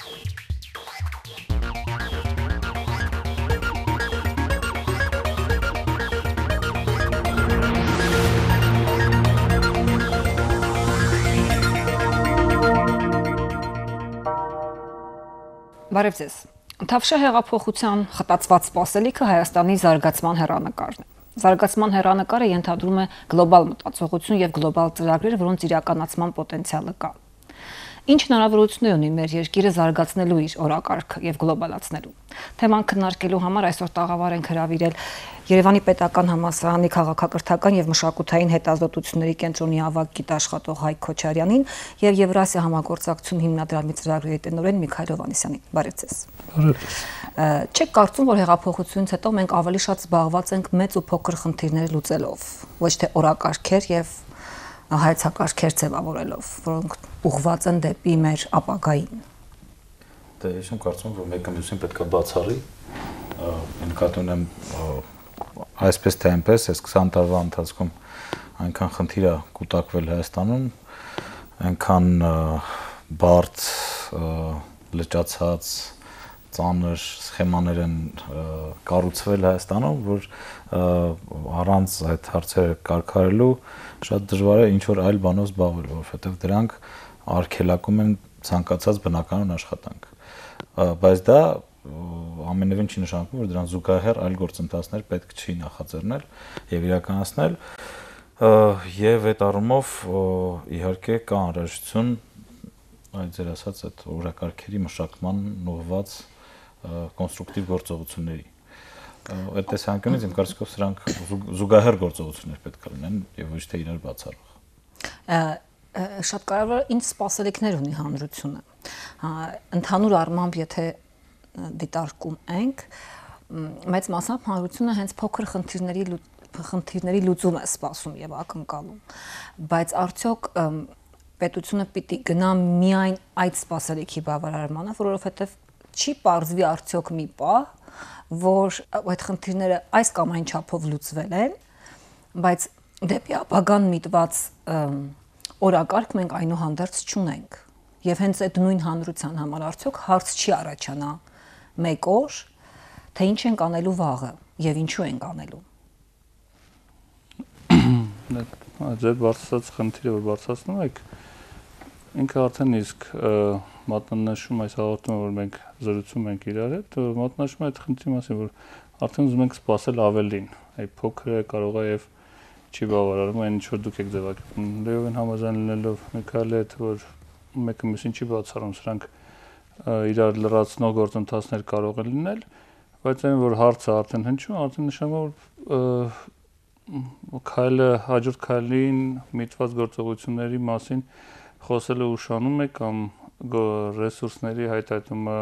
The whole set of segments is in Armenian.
Բարև ձեզ։ Թավշյա հեղափոխության խտացված սպասելիքը Հայաստանի զարգացման հեռանկարն է։ Զարգացման հեռանկարը ենթադրում է գլոբալ մտածողություն եւ գլոբալ ծրագրեր, որոնց իրականացման պոտենցիալը կա։ Ինչ հնարավորություններ ունի մեր երկիրը զարգացնելու իր օրակարգը եւ գլոբալացնելու։ Թեման քննարկելու համար այսօր տաղավար ենք հրավիրել Երևանի Պետական համալսարանի քաղաքակրթական եւ մշակութային հետազոտությունների կենտրոնի ավագ գիտաշխատող Հայկ Քոչարյանին եւ Եվրասիա համագործակցություն հիմնադրամի ծրագրերի տնօրեն Միքայել Հովհաննիսյանին։ Բարև ձեզ։ Բարև։ Չեք կարծում, որ հեղափոխությունից հետո մենք ավելի շատ զբաղված ենք մեծ ու փոքր խնդիրներ լուծելով, ոչ թե օրակարգեր եւ հայեցակարգեր ձևավորելով, որոնք ուղղված են դեպի մեր ապագային։ Դե ես կարծում եմ, որ մեկը մյուսին պետք է բացառի, նկատի ունեմ այսպես թե այնպես, այս 20 տարվա ընթացքում այնքան խնդիր է կուտակվել Հայաստանում, այնքան բարդ, լճացած, ծանր սխեմաներ են կառուցվել Հայաստանում, որ առանց այդ հարցերը կարգարելու շատ դժվար է ինչ-որ այլ բանով զբաղվել, որովհետև դրանք արգելակում են ցանկացած բնականon աշխատանք։ Բայց դա ամենևին չի նշանակում, որ դրան զուգահեռ այլ գործընթացներ պետք չի նախաձեռնել եւ իրականացնել, եւ այդ առումով իհարկե կա անհրաժեշտություն այդ ձեր ասած այդ օրակարգերի մշակման ուղղված կոնստրուկտիվ գործողությունների։ Այդ տեսանկյունից իմ կարծիքով սրանք զուգահեռ գործողություններ պետք է լինեն եւ ոչ թե իրար բացառող։ Շատ կարևոր է ինչ սպասելիքներ ունի հանրությունը։ Ընդհանուր առմամբ, եթե դիտարկում ենք, մեծ մասամբ հանրությունը հենց փոքր խնդիրների լուծում է սպասում եւ ակնկալում, բայց արդյոք պետությունը պիտի գնա միայն այդ սպասելիքի բավարարմանը, որովհետեւ չի պարզվի արդյոք մի պահ, որ այդ խնդիրները այս կամ այն չափով լուծվել են, բայց դեպի ապագան միտված օրակարգ մենք այնուհանդերձ չունենք։ Եվ հենց այդ նույն հանրության համար արդյոք հարց չի առաջանա մեկ օր, թե ինչ ենք անելու վաղը եւ ինչու ենք անելու։ Ձեր բարձրացած խնդիրը, որ բարձրացնում եք, ինքը արդեն իսկ մատնանշում այս հաղորդումը, որ մենք զրուցում ենք իրար հետ, մատնանշում այդ խնդրի մասին, որ արդեն ուզում ենք սպասել ավելին, այդ փոքրը կարող է եւ չի բավարարում այն ինչ որ դուք եք ձևակերպում։ Լեովին համաձայն լինելով Միքայելի հետ, որ մեկը մյուսին չի բացառում, սրանք իրար լրացնող գործընթացներ կարող են լինել, բայց այն որ հարցը արդեն հնչում, արդեն նշանակում որ քայլը հաջորդ քայլին միտված գործողությունների մասին խոսելը ուշանում է կամ ռեսուրսների հայտարարումը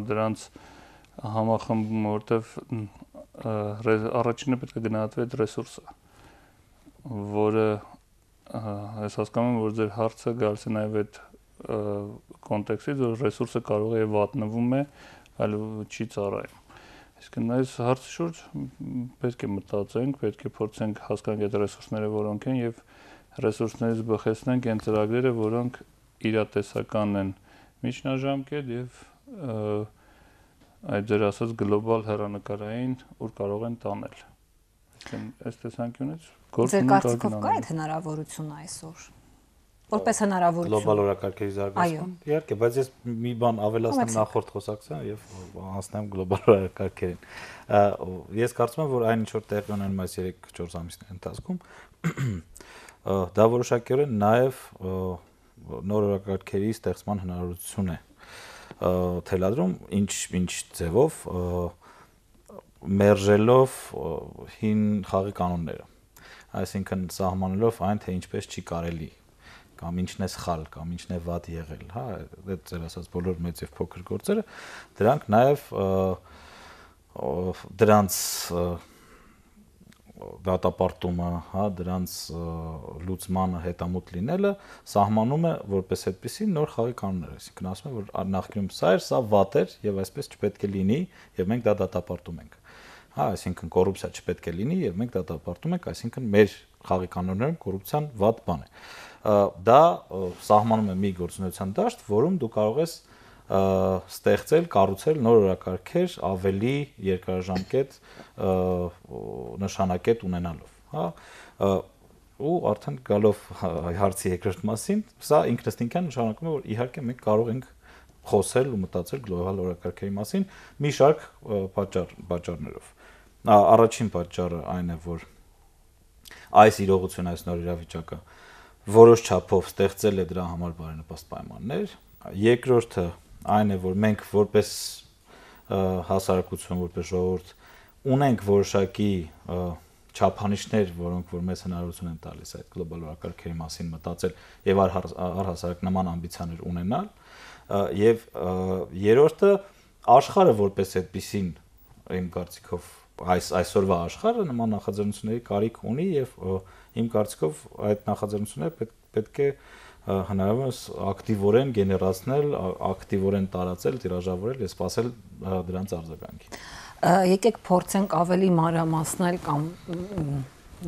դրանց համախմբում, որտեվ առաջինը պետք է գնահատվի այդ ռեսուրսը, որը ես հասկանում եմ, որ ձեր հարցը գալիս է նաև այդ կոնտեքստից, որ ռեսուրսը կարող է վատնվում է, այլ չի ծառայում։ Իսկ այս հարցի շուրջ պետք է մտածենք, պետք է փորձենք հասկանալ այդ ռեսուրսները որոնք են եւ ռեսուրսներից բխեցնենք այն ծրագրերը, որոնք իրատեսական են միջնաժամկետ եւ այդ ձեր ասած գլոբալ հեռանկարային, որ կարող են տանել։ Այս տեսանկյունից Ձեր կարծիքով կա այդ հնարավորությունը այսօր։ Որպես հնարավորություն։ Գլոբալ օրակարգերի զարգացում։ Իհարկե, բայց ես մի բան ավելացնեմ նախորդ խոսակցության եւ անցնեմ գլոբալ օրակարգերին։ Ես կարծում եմ, որ այն ինչ որ տեղի ունենում այս 3-4 ամիսների ընթացքում, դա որոշակիորեն նաեւ նոր օրակարգերի ստեղծման հնարավորություն է թելադրում, ինչ ձևով մերժելով հին խաղի կանոնները, այսինքն սահմանելով այն, թե ինչպես չի կարելի կամ ինչն է սխալ, կամ ինչն է վատ եղել, հա, այդ ձեր ասած բոլոր մեծ եւ փոքր գործերը, դրանք նաեւ դրանց դատապարտումը, հա, դրանց լուծմանը հետամուտ լինելը սահմանում է որպես այդպեսի նոր խաղի կանոններ, այսինքն ասում է, որ նախկինում սա էր, սա վատ էր եւ այսպես չպետք է լինի եւ մենք դա դատապարտում ենք։ Հա, այսինքն կոռուպցիա չպետք է լինի եւ մենք դատապարտում ենք, այսինքն մեր խաղի կանոններում կոռուպցիան վատ բան է։ Դա սահմանում է մի գործունեության դաշտ, որում դու կարող ես ստեղծել, կառուցել նոր օրակարգեր ավելի երկարաժամկետ նշանակետ ունենալով, հա, ու արդեն գալով հարցի երկրորդ մասին, սա ինքնըստինքյան նշանակում է, որ իհարկե մենք կարող ենք խոսել ու մտածել գլոբալ օրակարգերի մասին մի շարք պատճառներով։ Առաջին պատճառը այն է, որ այս իրողությունը, այս նոր իրավիճակը որոշ չափով ստեղծել է դրա համար բարենպաստ պայմաններ։ Երկրորդը այն է, որ մենք որպես հասարակություն, որպես ժողովուրդ ունենք որոշակի չափանիշներ, որոնք որ մեզ հնարավորություն են տալիս այդ գլոբալ օրակարգերի մասին մտածել եւ առհասարակ նման ամբիցիաներ ունենալ, եւ երրորդը աշխարհը որպես այդպիսին իմ կարծիքով այսօրվա աշխարհը նման նախաձեռնությունների կարիք ունի եւ իմ կարծիքով այդ նախաձեռնությունները պետք է հնարավորինս ակտիվորեն գեներացնել, ակտիվորեն տարածել, տիրաժավորել եւ սպասել դրանց արձագանքին։ Եկեք փորձենք ավելի մանրամասնել կամ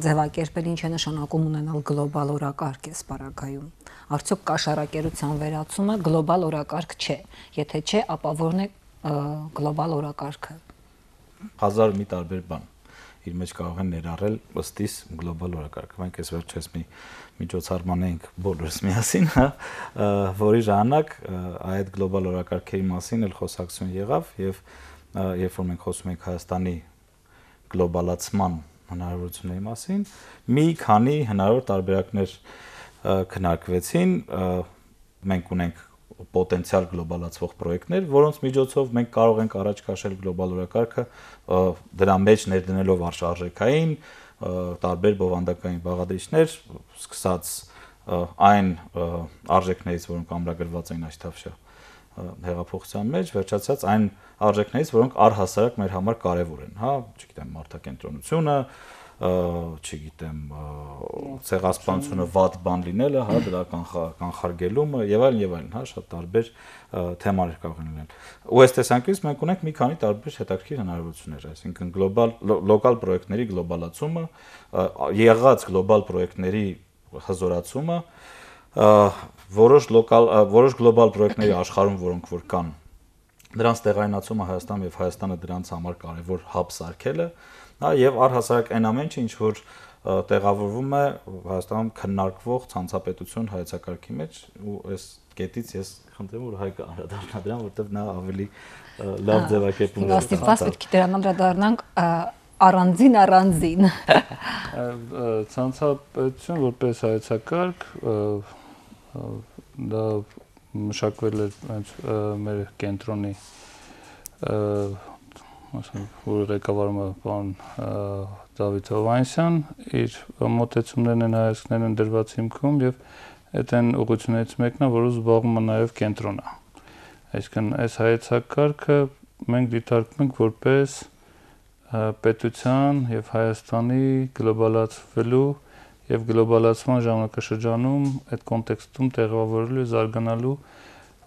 ձևակերպել ինչ է նշանակում ունենալ գլոբալ օրակարգ այս պարագայում։ Արդյոք կաշառակերության վերացումը գլոբալ օրակարգ չէ։ Եթե չէ, ապա ո՞րն է գլոբալ օրակարգը։ Հազար մի տարբեր բան իր մեջ կարող են ներառել ըստիս գլոբալ օրակարգը։ Մենք այս վերջերս մի միջոցառման էինք բոլորս միասին, որի ժամանակ այդ գլոբալ օրակարգերի մասին էլ խոսակցություն եղավ եւ երբ որ մենք խոսում ենք Հայաստանի գլոբալացման հնարավորությունների մասին, մի քանի հնարավոր տարբերակներ քննարկվեցին, մենք ունենք պոտենցիալ գլոբալացվող պրոյեկտներ, որոնց միջոցով մենք կարող ենք առաջ քաշել գլոբալ օրակարգը, դրա մեջ ներդնելով արժեքային, տարբեր բովանդակային բաղադրիչներ, սկսած այն արժեքներից, որոնք ամրագրված են Աշտավշա հեղափոխության մեջ, վերջացած այն արժեքներից, որոնք առհասարակ մեր համար կարևոր են, հա, չգիտեմ, մարդակենտրոնությունը, չգիտեմ, ցեղասպանությունը վատ բան լինելը, հա, դրա կանխարգելումը եւ այլն, հա, շատ տարբեր թեմաներ կարող են լինել։ Ու այս տեսանկյունից մենք ունենք մի քանի տարբեր հետաքրքիր հնարավորություններ, այսինքն լոկալ պրոյեկտների գլոբալացումը, եղած գլոբալ պրոյեկտների հզորացումը, որոշ գլոբալ պրոյեկտների աշխարհում, որոնք որ կան, դրանց տեղայնացումը Հայաստանում եւ Հայաստանը դրանց համար կարեւոր հաբ սարքելը, հա, եւ առհասարակ այն ամենը, ինչ որ տեղավորվում է Հայաստանում քննարկվող ցանցապետություն հայեցակարգի մեջ, ու այս կետից ես խնդրեմ, որ Հայկը անդրադառնա դրան, որտեղ նա ավելի լավ ձևակերպում է։ Աստիճան պետք է դրան անդրադառնանք առանձին։ Ցանցապետություն որպես հայեցակարգ դա մշակվել է մեր կենտրոնի որ ղեկավարում է պարոն Դավիթ Հովհաննիսյան, իր մոտեցումներն են հայացքներն են դրված հիմքում եւ այդ այն ուղղություններից մեկն է, որը զբաղվում է նաեւ կենտրոնը։ Այսինքն այս հայեցակարգը մենք դիտարկում ենք որպես պետության եւ Հայաստանի գլոբալացվելու եւ գլոբալացման ժամանակաշրջանում այդ կոնտեքստում տեղավորելու զարգանալու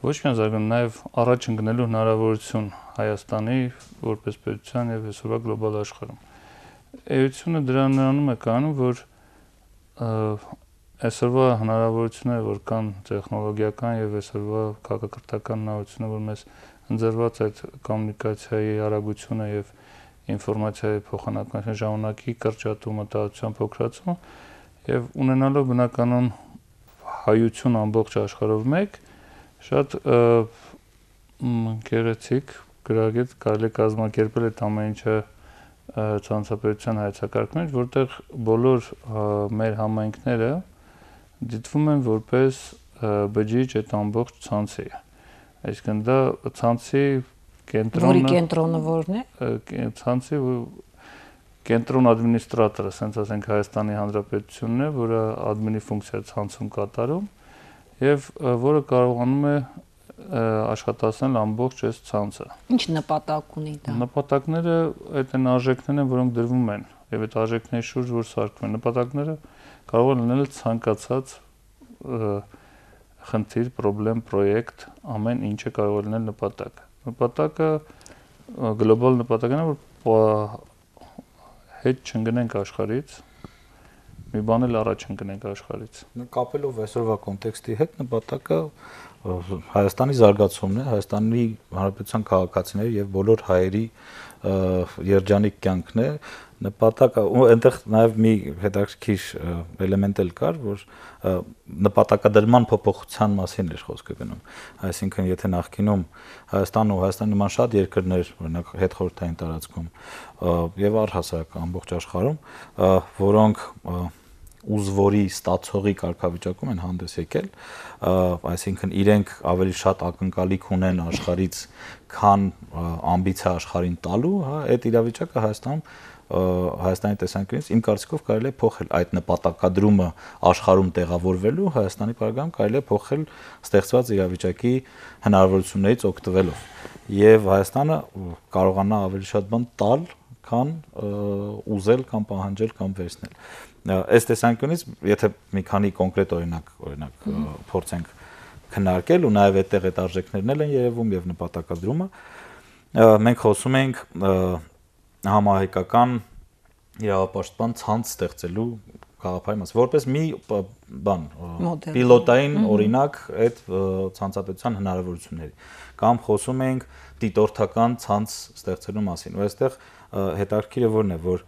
ոչ միայն զարգանալու նաեւ առաջ ընկնելու հնարավորություն Հայաստանի որպես պետության եւ այսօրվա գլոբալ աշխարհում։ Էությունը դրանում է կանում, որ այսօրվա հնարավորությունները, որ կան տեխնոլոգիական եւ այսօրվա քաղաքակրթական հնարավորությունները, որ մեզ ընձեռված այդ կոմունիկացիայի արագությունը եւ ինֆորմացիայի փոխանակման ժամանակի կրճատումը, տարածության փոքրացումը եւ ունենալով բնականon հայություն ամբողջ աշխարհով մեկ շատ գեղեցիկ գրագետ կարելի է կազմակերպել այդ ամեն ինչը ցանցապետության հայեցակարգում, որտեղ բոլոր մեր համայնքները դիտվում են որպես բջիջ այդ ամբողջ ցանցի։ Այսինքն դա ցանցի կենտրոնը, որի կենտրոնը որն է։ Ցանցի կենտրոն ադմինիստրատորը, ասենք ասենք Հայաստանի Հանրապետությունն է, որը ադմինի ֆունկցիա ցանցում կատարում եւ որը կարողանում է աշխատացնել ամբողջ այս ցանցը։ Ինչ նպատակ ունի դա։ Նպատակները այդ են արժեքներն են, որոնք դրվում են եւ այդ արժեքների շուրջ որ սարքում են։ Նպատակները կարող են լինել ցանկացած խնդիր, պրոբլեմ, պրոյեկտ, ամեն ինչը կարող է լինել նպատակ։ Նպատակը գլոբալ նպատակն է, որ հետ չընկնենք աշխարհից մի բան էլ առաջ ընկնենք աշխարհից։ Կապելով այսօրվա կոնտեքստի հետ նպատակը Հայաստանի զարգացումն է, Հայաստանի Հանրապետության քաղաքացիների եւ բոլոր հայերի երջանիկ կյանքն է, նպատակը ու այնտեղ նաեւ մի հետաքրքիր էլեմենտ էլ կար, որ նպատակադրման փոփոխության մասին էր խոսքը գնում։ Այսինքն, եթե նախկինում Հայաստանը ու Հայաստանի նման շատ երկրներ, օրինակ հետխորհրդային տարածքում եւ առհասարակ ամբողջ աշխարհում, որոնք ուզվորի ստացողի կարգավիճակում են հանդես եկել, այսինքն իրենք ավելի շատ ակնկալիք ունեն աշխարհից, քան ամբիցիա աշխարհին տալու, հա, այդ իրավիճակը Հայաստանի տեսանկյունից իմ կարծիքով կարելի է փոխել այդ նպատակադրումը աշխարհում տեղավորվելու Հայաստանի պարագայում կարելի է փոխել ստեղծված իրավիճակի հնարավորություններից օգտվելով եւ Հայաստանը կարողանա ավելի շատ բան տալ, քան ուզել կամ պահանջել կամ վերցնել։ Այս տեսանկյունից, եթե մի քանի կոնկրետ օրինակ փորձենք քննարկել ու նաև այդտեղ այդ արժեքներն են երևում եւ նպատակադրումը, մենք խոսում ենք համահայկական իրավապաշտպան ցանց ստեղծելու գաղափարի մասին, որպես մի բան, պիլոտային օրինակ այդ ցանցապետության հնարավորությունների, կամ խոսում ենք դիտորդական ցանց ստեղծելու մասին, ու այստեղ հետաքրքիրը որն է, որ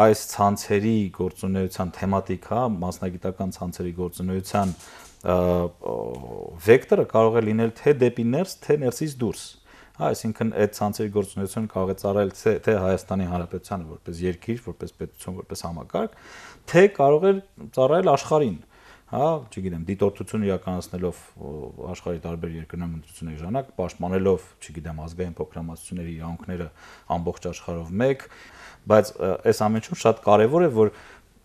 այս ցանցերի գործունեության թեմատիկա, մասնագիտական ցանցերի գործունեության վեկտորը կարող է լինել թե դեպի ներս, թե ներսից դուրս։ Այսինքն այդ ցանցերի գործունեությունը կարող է ծառայել թե Հայաստանի Հանրապետությանը որպես երկիր, որպես պետություն, որպես համակարգ, թե կարող է ծառայել աշխարհին, հա, չգիտեմ, դիտորդություն իրականացնելով աշխարհի տարբեր երկրներում ընտրությունների ժամանակ, պաշտպանելով, չգիտեմ, ազգային փոքրամասնությունների իրավունքները ամբողջ աշխարհով մեկ, բայց այս ամենը շատ կարևոր է, որ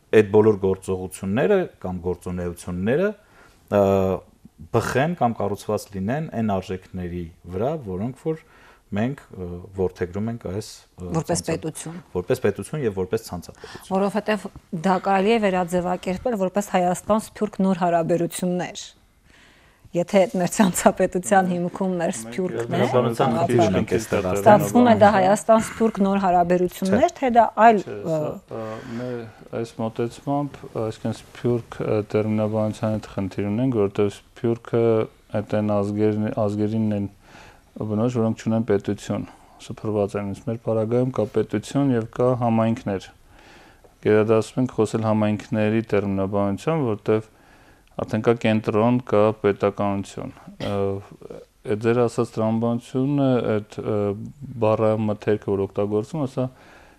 այդ բոլոր գործողությունները կամ գործունեությունները բխեն կամ կառուցված լինեն այն արժեքների վրա, որոնք որ մենք որդեգրում ենք այս որպես պետություն եւ որպես ցանցապետություն, որովհետեւ դա կարելի է վերաձևակերպել որպես Հայաստան-Սփյուռք նոր հարաբերություններ։ Եթե մեր ցանցապետության հիմքում մեր Սփյուռքն է, ստացվում է դա Հայաստան-Սփյուռք նոր հարաբերություններ, թե դա այլ այս մոտեցմամբ, այսինքն Սփյուռք տերմինաբանության հետ խնդիր ունենք, որովհետեւ Սփյուռքը այդ այն ազգերին են բնորոշ, որոնք ունեն պետություն, սփռված են, մեր պարագայում կա պետություն եւ կա համայնքներ։ Գերադասում ենք խոսել համայնքների տերմինաբանության, որովհետեւ արդեն կա կենտրոն, կա պետականություն։ Այդ ձեր ասած տրամաբանությունը, այդ բառամթերքը, որ օգտագործում, ասա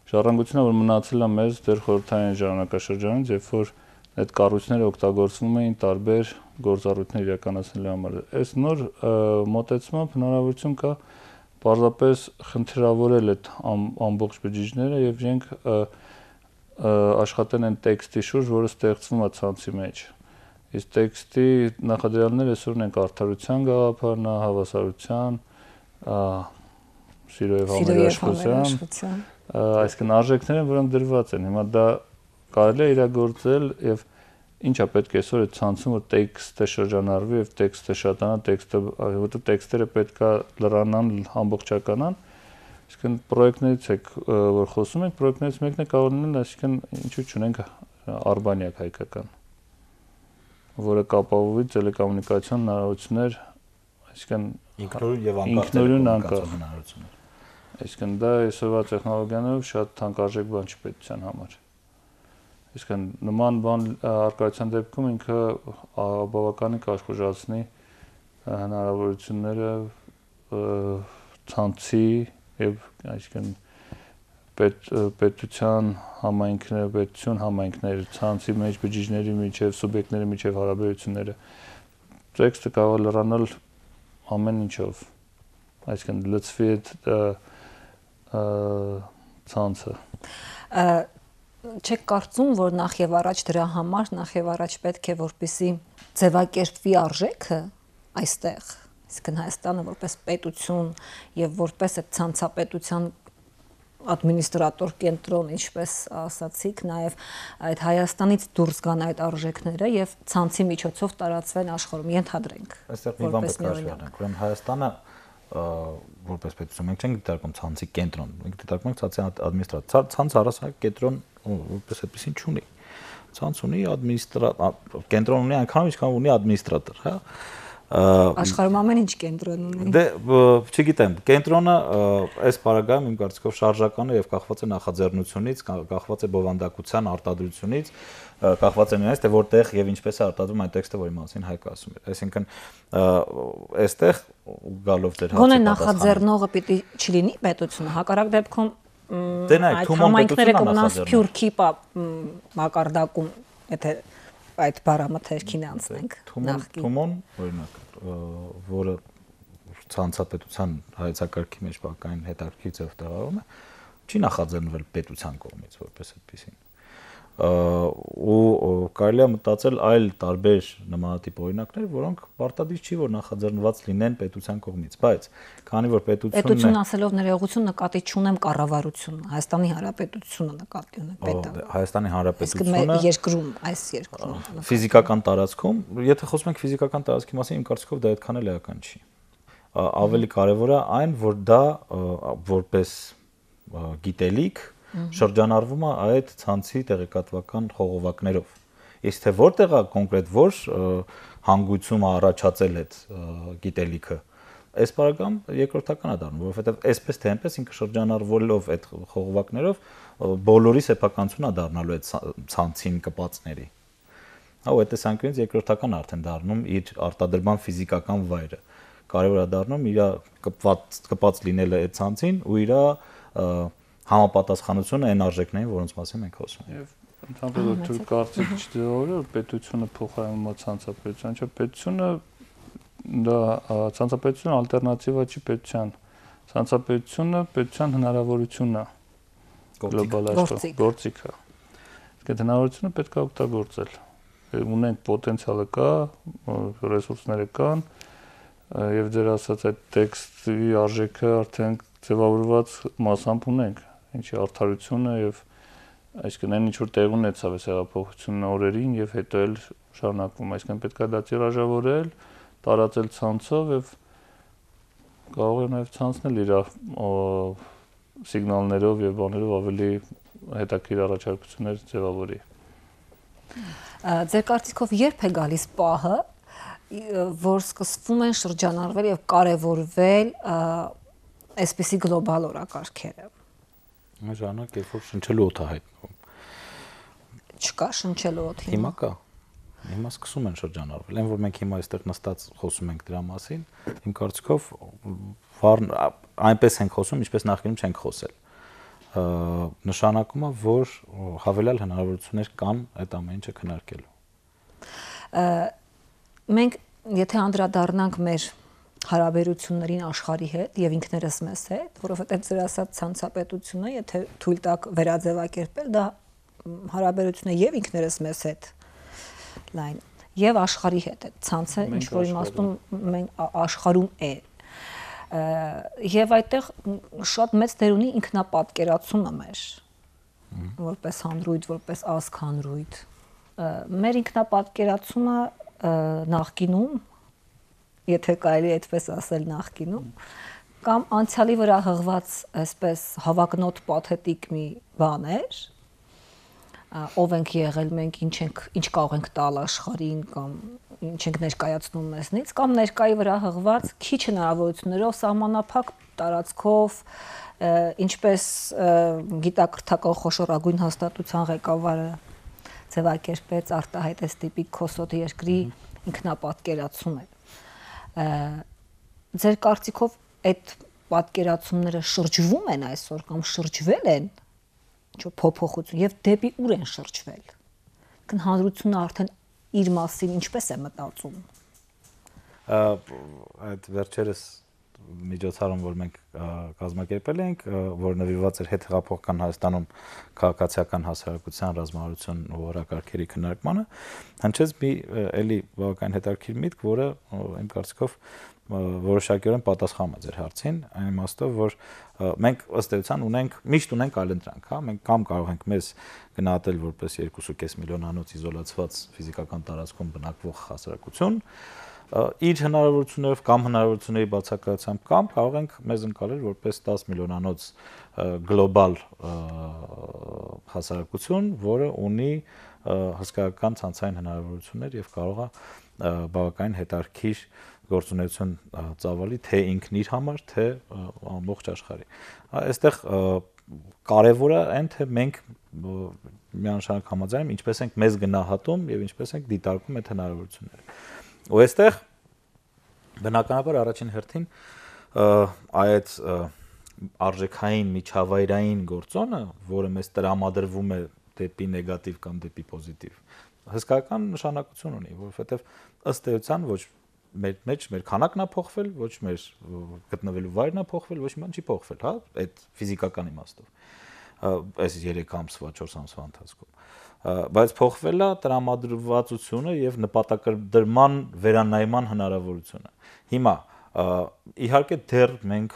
ժառանգությունը, որ մնացել է մեզ դեռ խորհրդային ժամանակաշրջանից, երբ որ այդ կառույցները օգտագործվում էին տարբեր գործառույթներ իրականացնելու համար։ Այս նոր մոտեցմամբ հնարավորություն կա պարզապես խնդրավորել այդ ամբողջ բջիջները եւ իրենք աշխատեն այն տեքստի շուրջ, որը ստեղծվում է ցանցի մեջ։ Իսկ տեքստի նախադրյալները այսօր ունենք արդարության գաղափարն, հավասարության, սիրո եւ համերաշխության, այսինքն արժեքները, որոնք դրված են։ Հիմա դա կարելի է իրագործել եւ ինչա պետք է այսօր այդ ցանցում, որ տեքստը շրջանառվի եւ տեքստը շատանա, որովհետեւ տեքստերը պետքա լրանան, ամբողջականան։ Այսինքն պրոյեկտներից եք որ խոսում ենք, պրոյեկտներից մեկն է կարող լինել, այսինքն ինչու՞ չունենք արբանյակ հայկական, որը կապահովի տելեկոմունիկացիոն հնարավորություններ, այսինքն ինքնուրույն անկախ հնարավորություններ։ Այսինքն դա այսօրվա տեխնոլոգիաներով շատ թանկարժեք բան չի պետության համար։ Այսինքն նման բան արկայության դեպքում ինքը բավականին կաշխուժացնի հնարավորությունները ցանցի եւ այսինքն պետության համայնքները, պետություն համայնքներ, ցանցի մեջ բջիջների միջև, սուբյեկտների միջև հարաբերությունները, տեքստը կարող է լրանալ ամեն ինչով, այսինքն լծվի ցանցը։ Չեք կարծում, որ նախ եւ առաջ դրա համար նախ եւ առաջ պետք է որպեսզի ձևակերպվի արժեքը այստեղ, այսինքն Հայաստանը որպես պետություն եւ որպես այդ ցանցապետության ադմինիստրատոր կենտրոն, ինչպես ասացիք, նաև այդ Հայաստանից դուրս գան այդ արժեքները եւ ցանցի միջոցով տարածվեն աշխարհում, ենթադրենք։ Այստեղ մի բան պետք է հաշվի առնենք, ուրեմն Հայաստանը որպես պետություն մենք չենք դիտարկում ցանցի կենտրոն, մենք դիտարկում ենք ցանցի ադմինիստրատոր, ցանց առասարակ կենտրոն որպես այդպեսին չունի։ ցանց ունի կենտրոն ունի այնքան ինչքան ունի ադմինիստրատոր, հա։ Աշխարհում ամեն ինչ կենտրոն ունի։ Դե չգիտեմ, կենտրոնը այս բaragայում իմ կարծիքով շարժական է եւ կախված է նախաձեռնությունից, կախված է բովանդակության արտադրությունից, կախված է նրանից, թե որտեղ եւ ինչպես է արտադրվում այն տեքստը, որի մասին Հայկը ասում է։ Այսինքն այստեղ գալով դեր հացի պատասխանը։ Գոնե նախաձեռնողը պիտի չլինի պետությունը, հակառակ դեպքում այդ համայնքները կմնան սփյուռքի մակարդակում, եթե այդ բառամթերքին անցնենք նախկին Թումոն օրինակ որը ցանցապետության հայեցակարգի մեջ բակային հետաքրքիր ձև տեղավորում է չի նախաձեռնվել պետության կողմից որպես այդպեսին ու կարելի է մտածել այլ տարբեր նմանատիպ օրինակներ, որոնք պարտադիր չի որ նախաձեռնված լինեն պետության կողմից, բայց քանի որ պետություն ասելով ներողություն նկատի չունեմ կառավարությունը, Հայաստանի Հանրապետությունը նկատի ունեմ պետը։ Հայաստանի Հանրապետությունը երկրում, այս երկրում ֆիզիկական տարածքում, եթե խոսում ենք ֆիզիկական տարածքի մասին, իմ կարծիքով դա այդքան էլ էական չի։ Ավելի կարևոր է այն, որ դա որպես գիտելիք շրջանառվում է այդ ցանցի տեղեկատվական խողովակներով։ Իսկ թե որտեղ է կոնկրետ որ հանգույցումը առաջացել այդ գիտելիքը, այս բaragam երկրորդական է դառնում, որովհետև այսպես թե այնպես ինքը շրջանառվելով այդ խողովակներով բոլորի սեփականությունն է դառնալու այդ ցանցին կպածների։ Հա, ու այդ տեսանկյունից երկրորդական արդեն դառնում իր արտադրման ֆիզիկական վայրը։ Կարևոր է դառնում իր կպած լինելը այդ ցանցին ու իր համապատասխանությունը այն արժեքներին, որոնց մասին մենք խոսում ենք։ Եվ ընդհանրապես կարծիք չդրողը որ պետությունը փոխարինում է ցանցապետության, չէ, պետությունը դա ցանցապետությունը ալտերնատիվա չի պետության։ Ցանցապետությունը պետության հնարավորությունն է գլոբալ աշխարհում, գործիքը։ Իսկ այդ հնարավորությունը պետք է օգտագործել։ Ունենք պոտենցիալը կա, ռեսուրսները կան, եւ ձեր ասած այդ տեքստի արժեքը արդեն ձևավորված մասամբ ունենք, ինչի արդարությունը եւ այսինքն այն ինչ որ տեղ ունեցավ այս հեղափոխությունն օրերին եւ հետո էլ շարունակվում, այսինքն պետք է դա տիրաժավորել, տարածել ցանցով եւ կարող է նաեւ ցանցն էլ իր սիգնալներով եւ բաներով ավելի հետաքրքիր առաջարկություններ ձևավորի։ Ձեր կարծիքով երբ է գալիս պահը, որ սկսվում են շրջանառվել եւ կարեւորվել այսպիսի գլոբալ օրակարգերը։ Ժամանակ երբ որ շնչելու օդ է հայտնվում։ Չկա շնչելու օդ հիմա կա։ Հիմա սկսում են շրջանառվել։ Այն որ մենք հիմա այստեղ նստած խոսում ենք դրա մասին, իմ կարծիքով այնպես ենք խոսում, ինչպես նախկինում չենք խոսել։ Նշանակում է, որ հավելյալ հնարավորություններ կան այդ ամեն ինչը քննարկելու։ Մենք եթե անդրադառնանք մեր հարաբերություններին աշխարհի հետ եւ ինքներս մեզ հետ, որովհետեւ ձեր ասած ցանցապետությունը, եթե թույլ տաք վերաձևակերպել, դա հարաբերությունը եւ ինքներս մեզ հետ լայն եւ աշխարհի հետ է։ Ցանցը ինչ որ իմաստում մենք աշխարհում է։ Եվ այդտեղ շատ մեծ դեր ունի ինքնապատկերացումը մեր, որպես հանրույթ, որպես ազգ հանրույթ։ Մեր ինքնապատկերացումը նախկինում, եթե կարելի այդպես ասել նախկինում, կամ անցյալի վրա հղված այսպես հավակնոտ պաթետիկ մի բան էր, ով ենք եղել մենք, ինչ կարող ենք տալ աշխարհին կամ ինչ ենք ներկայացնում մեզնից, կամ ներկայի վրա հղված քիչ հնարավորություններով սահմանափակ տարածքով, ինչպես գիտակրթական խոշորագույն հաստատության ղեկավարը ձևակերպեց արտահայտեց տիպիկ քոսոտ երկրի ինքնապատկերացում է։ Ձեր կարծիքով այդ պատկերացումները շրջվում են այսօր կամ շրջվել են ինչ փոփոխություն եւ դեպի ուր են շրջվել։ Հանրությունը արդեն իր մասին ինչպես է մտածում։ Այդ վերջերս միջոցառում, որ մենք կազմակերպել ենք, որ նվիրված էր հետհեղափոխական Հայաստանում քաղաքացիական հասարակության ռազմավարություն ու օրակարգերի քննարկմանը, հնչեց մի էլի բավական հետաքրքիր միտք, որը իմ կարծիքով որոշակիորեն պատասխանում է ձեր հարցին, այն իմաստով, որ մենք ըստ էության միշտ ունենք այլընտրանք, հա, մենք կամ կարող ենք մեզ գնահատել որպես 2.5 միլիոնանոց իզոլացված ֆիզիկական տարածքում բնակվող հասարակություն, իր հնարավորություններով կամ հնարավորությունների բացակայությամբ կամ կարող ենք մեզ ընկալել որպես 10 միլիոնանոց գլոբալ հասարակություն, որը ունի հսկայական ցանցային հնարավորություններ եւ կարող է բավականին հետաքրքիր գործունեություն ծավալի թե ինքն իր համար, թե ամբողջ աշխարհի։ Այստեղ կարևորը այն թե մենք միանշանակ համաձայն ինչպես ենք մեզ գնահատում եւ ինչպես ենք դիտարկում այդ հնարավորությունները։ Ու այստեղ բնականաբար առաջին հերթին այդ արժեքային միջավայրային գործոնը, որը մեզ տրամադրվում է դեպի նեգատիվ կամ դեպի պոզիտիվ, հսկայական նշանակություն ունի, որովհետև ըստ էության ոչ մեր քանակն է փոխվել, ոչ մեր գտնվելու վայրն է փոխվել, ոչ մի բան չի փոխվել, հա, այդ ֆիզիկական իմաստով։ Այս 3 ամսվա, 4 ամսվա ընթացքում։ Բայց փոխվել է տրամադրվածությունը եւ նպատակադրման վերանայման հնարավորությունը։ Հիմա իհարկե դեռ մենք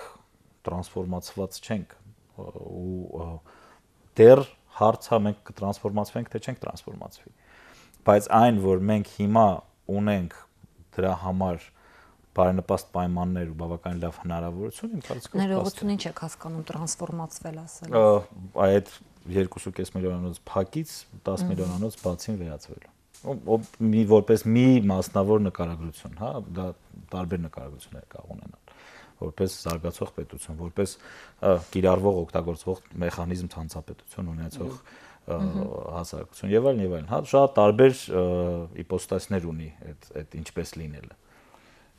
տրանսֆորմացված չենք ու դեռ հարցը մենք կտրանսֆորմացվենք թե չենք տրանսֆորմացվի, բայց այն որ մենք հիմա ունենք դրա համար բարենպաստ պայմաններ ու բավականին լավ հնարավորություն, իմ կարծիքով ներողություն ինչ եք հասկանում տրանսֆորմացվել ասել։ Այդ 2.5 միլիոնանոց փակից 10 միլիոնանոց բացին վերածվելու։ Որպես մի մասնավոր նկարագրություն, հա, դա տարբեր նկարագրություններ կարող ունենալ, որպես զարգացող պետություն, որպես կիրառվող օգտագործվող մեխանիզմ ցանցապետություն ունեցող հասարակություն եւ այլն, հա, շատ տարբեր իպոստասներ ունի այդ ինչպես լինելը։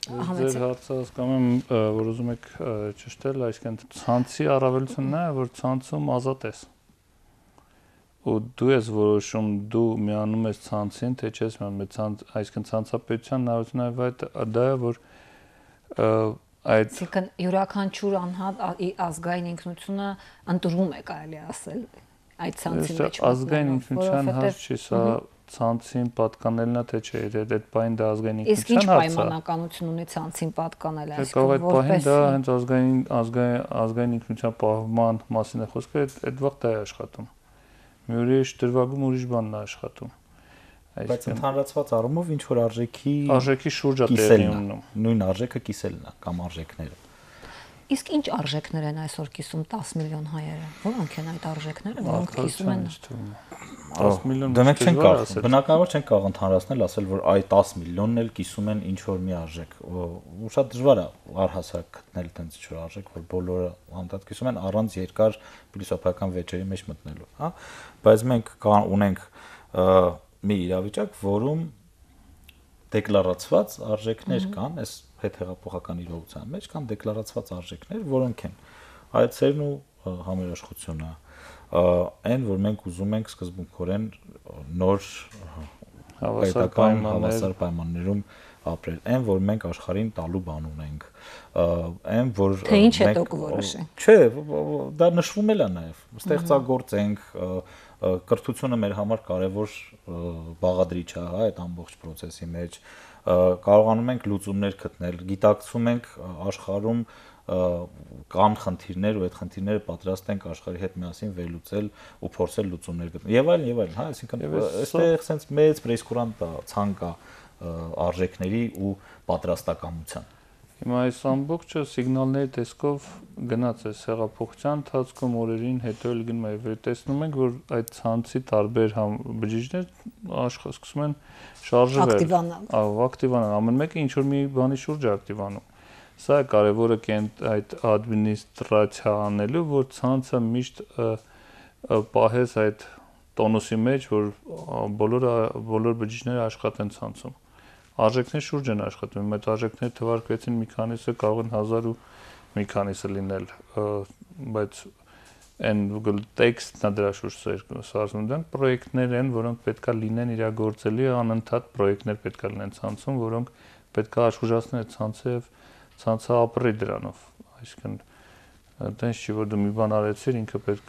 Ձեր հարցը հասկանում եմ, որ ուզում եք ճշտել, այսինքն ցանցի առավելությունն է, որ ցանցում ազատ ես։ Ու դու ես որոշում, դու միանում ես ցանցին, թե չես միանում, այսինքն ցանցապետության նավթնավայրը դա է, որ Այսինքն յուրաքանչյուր անհատ ազգային ինքնությունը ընտրում է, կարելի ասել, այդ ցանցի մեջ։ Ազգային ինքնության հարց չի, սա ցանցին պատկանելն է, թե չէ, այդ բանը դա ազգային ինքնության հարց է։ Իսկ ինչ պայմանականություն ունի ցանցին պատկանելը, այսինքն որպես դա հենց ազգային ինքնության պահպանման մասին է խոսքը, այդ վաղ դա է աշխատում։ Մի ուրիշ դրվագում ուրիշ բանն է աշխատում։ Բայց ընդհանրացված առումով ինչ որ արժեքի շուրջ է տեղի ունենում։ Նույն արժեքը կիսելն է կամ արժեքները։ Իսկ ինչ արժեքներ են այսօր կիսում 10 միլիոն հայերը։ Որոնք են այդ արժեքները, որոնք կիսում են 10 միլիոն։ Դրանք չեն կարող, բնականաբար չեն կարող ընդհանրացնել, ասել որ այ 10 միլիոնն էլ կիսում են ինչ որ մի արժեք։ Ու շատ դժվար է առհասարակ գտնել այդպես ինչ որ արժեք, որ բոլորը անդադ կիսում են առանց երկար փիլիսոփայական վեճերի մեջ մտնելու, հա։ Բայց մենք ունենք մի իրավիճակ, որում դեկլարացված արժեքներ կան, այս հետհեղափոխական իրողության մեջ կան դեկլարացված արժեքներ, որոնք են այցերն ու համերաշխությունը, այն, որ մենք ուզում ենք սկզբունքորեն նոր պետական հավասար պայմաններում ապրել, այն, որ մենք աշխարհին տալու բան ունենք, այն, որ թե ինչ է դուք որոշենք։ Չէ, դա նշվում էլ է նաև, ստեղծագործենք, կրթությունը մեր համար կարևոր բաղադրիչ է, հա, այդ ամբողջ process-ի մեջ, կարողանում ենք լուծումներ գտնել, գիտակցում ենք աշխարհում կան խնդիրներ ու այդ խնդիրները պատրաստ ենք աշխարհի հետ միասին վերլուծել ու փորձել լուծումներ գտնել։ Եվ այլն, հա, այսինքն այստեղ sense մեծ պրեսկուրանտ ցանկ է արժեքների ու պատրաստակամության։ Հիմա այս ամբողջը սիգնալների տեսքով գնաց է հեղափոխության ընթացքում օրերին հետո էլ գնում է, տեսնում ենք, որ այդ ցանցի տարբեր բջիջներ սկսում են շարժվել, ակտիվանալ, ամեն մեկը ինչ որ մի բանի շուրջ է ակտիվանում։ Սա է կարևորը այդ ադմինիստրացիա անելու, որ ցանցը միշտ պահես այդ տոնուսի մեջ, որ բոլոր բջիջները աշխատեն ցանցում։ Արժեքներ շուրջ են աշխատում, այդ արժեքները թվարկվեցին մի քանիսը կարող են 1000 ու մի քանիսը լինել, բայց այն տեքստն է դրա շուրջ սարսում, դրանք պրոյեկտներ են, որոնք պետքա լինեն իրագործելի, անընդհատ պրոյեկտներ պետքա լինեն ցանցում, որոնք պետքա աշխուժացնեն այդ ցանցը եւ ցանցը ապրի դրանով, այսինքն այդպես չի որ դու մի բան արեցիր, ինքը պետք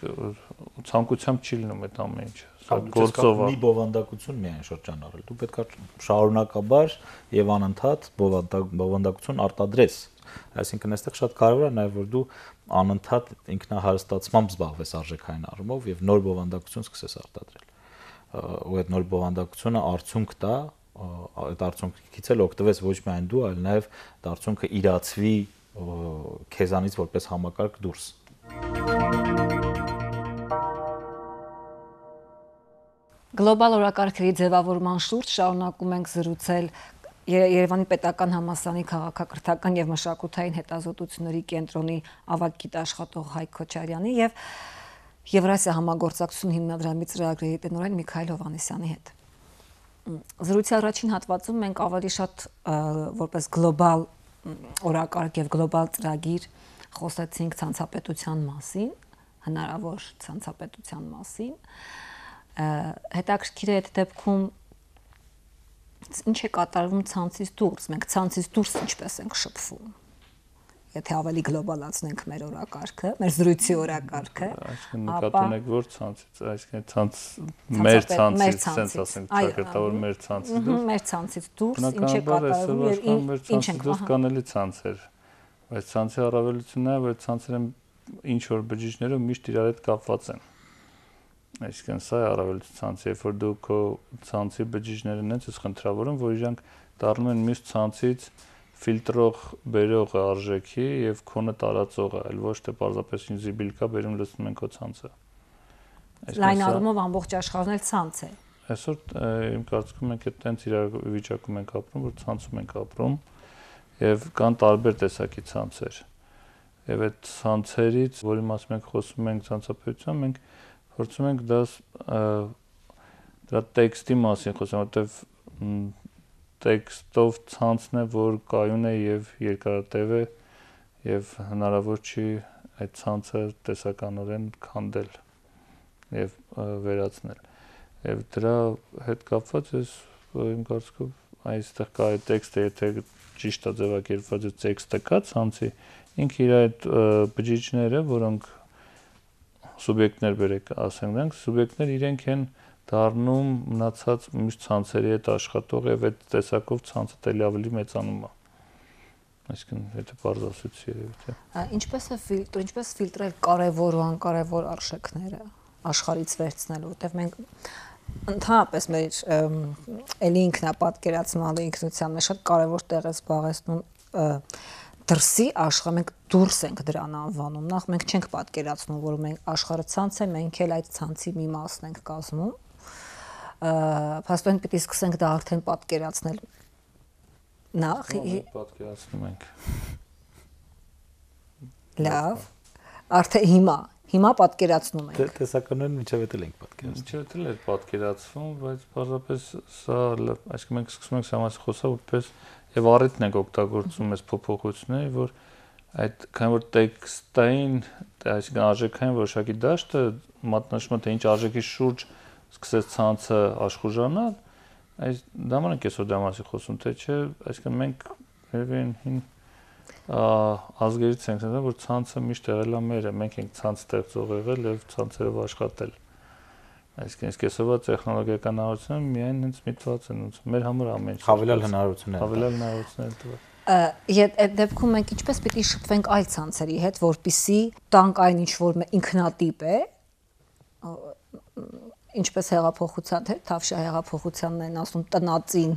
ցանկությամբ չի լինում այդ ամեն ինչը։ Սա գործով է։ Մի բովանդակություն միայն շրջանառել։ Դու պետքա շարունակաբար եւ անընդհատ բովանդակություն արտադրես։ Այսինքն այստեղ շատ կարևոր է նաեւ որ դու անընդհատ ինքնահարստացմամբ զբաղվես արժեքային առումով եւ նոր բովանդակություն սկսես արտադրել։ Ու այդ նոր բովանդակությունը արդյունք տա, այդ արդյունքից էլ օգտվես ոչ միայն դու, այլ նաեւ այդ արդյունքը իրացվի քեզանից որպես համակարգ դուրս։ Գլոբալ օրակարգերի ձևավորման շուրջ շարունակում ենք զրուցել Երևանի պետական համալսարանի քաղաքակրթական եւ մշակութային հետազոտությունների կենտրոնի ավագ գիտաշխատող Հայկ Քոչարյանի եւ Եվրասիա համագործակցություն հիմնադրամի ծրագրերի տնօրեն Միքայել Հովհաննիսյանի հետ։ Զրույցի առաջին հատվածում մենք ավելի շատ որպես գլոբալ օրակարգ եւ գլոբալ ծրագիր խոսեցինք ցանցապետության մասին, հնարավոր ցանցապետության մասին։ Հետաքրքիր է այդ դեպքում ինչ է կատարվում ցանցից դուրս, մենք ցանցից դուրս ինչպես ենք շփվում։ Եթե ավելի գլոբալացնենք մեր օրակարգը, մեր զրույցի օրակարգը, այսինքն նկատունեք որ ցանցից, այսինքն մեր ցանցից, sense ասենք, ճակատավոր մեր ցանցից դուրս։ Մեր ցանցից դուրս ինչ է կատարվում եւ ինչ ենք դուրս կանելի ցանցեր։ Բայց ցանցի առավելությունն է, որ ցանցերը ինչ որ բջիջներով միշտ իրար հետ կապված են։ Այսինքն սա է առավելություն ցանցի, երբ որ դու քո ցանցի բջիջները նենց ես խնդրավորում, որ իրանք դառնում են մյուս ցանցից ֆիլտրող բերող արժեքի եւ քոնը տարածողը, այլ ոչ թե պարզապես ինչ զիբիլ կա, բերում լցնում են քո ցանցը։ Լայն առումով ամբողջ աշխարհն էլ ցանց է։ Այսօր իմ կարծիքով մենք այդտենց իրավիճակում ենք ապրում, որ ցանցում ենք ապրում եւ կան տարբեր տեսակի ցանցեր։ Եվ այդ ցանցերից, որի մասին մենք խոսում ենք ցանցապետության, մենք փորձում ենք դրա տեքստի մասին խոսեմ, որտեվ տեքստով ցանցն է, որ կայուն է եւ երկարատև է եւ հնարավոր չի այդ ցանցը տեսականորեն քանդել եւ վերացնել։ Եվ դրա հետ կապված է իմ կարծիքով այստեղ կա այդ տեքստը, եթե ճիշտ է ձևակերպված այդ տեքստը կա ցանցի, ինքը իր այդ բջիջները, որոնք սուբյեկտներ բերեք, ասենք դրանք, սուբյեկտներ իրենք են դառնում մնացած մյուս ցանցերի հետ աշխատող եւ այդ տեսակով ցանցը տելի ավելի մեծանում է։ Այսինքն եթե բարձ ասեցի երևի թե։ Ինչպես ֆիլտրել կարևոր ու անկարևոր արժեքները աշխարհից վերցնել, որտեղ մենք ընդհանրապես մեր էլի ինքնապատկերացման ինքնության մեջ շատ կարևոր տեղ է զբաղեցնում դրսի աշխարհ, մենք դուրս ենք դրան անվանում։ Նախ մենք չենք պատկերացնում, որ մենք աշխարհը ցանց է, մենք էլ այդ ցանցի մի մասն ենք կազմում։ Փաստորեն պիտի սկսենք դա արդեն պատկերացնել։ Նախ պատկերացնում ենք։ Լավ։ Արդեն հիմա պատկերացնում ենք։ Տեսականորեն միջև էլ ենք պատկերացնում։ Միջև էլ է պատկերացվում, բայց պարզապես սա, այսինքն մենք սկսում ենք սա խոսալ որպես եւ առիթն ենք օգտագործում այս փոփոխությունները, որ այդ քան որ տեքստային, այսինքն արժեքային որոշակի դաշտը մատնաշում թե ինչ արժեքի շուրջ սկսեց ցանցը աշխուժանալ, այս դամանք այսօր դա մասի խոսում, թե չէ, այսինքն մենք երևի ազգերից ենք ասում, որ ցանցը միշտ եղել է մերը, մենք ենք ցանց ստեղծող եղել եւ ցանցերով աշխատել։ Այսինքն իսկ այսօրվա տեխնոլոգիական հնարավորությունները միայն հենց միտված են ոնց մեր համար ամեն ինչ հավելյալ հնարավորություններ տվել։ Այդ դեպքում մենք ինչպես պիտի շփվենք այլ ցանցերի հետ, որպիսի տանք այն ինչ որ ինքնատիպ է, ինչպես հեղափոխության, թե Թավշյա հեղափոխությանն են ասում տնածին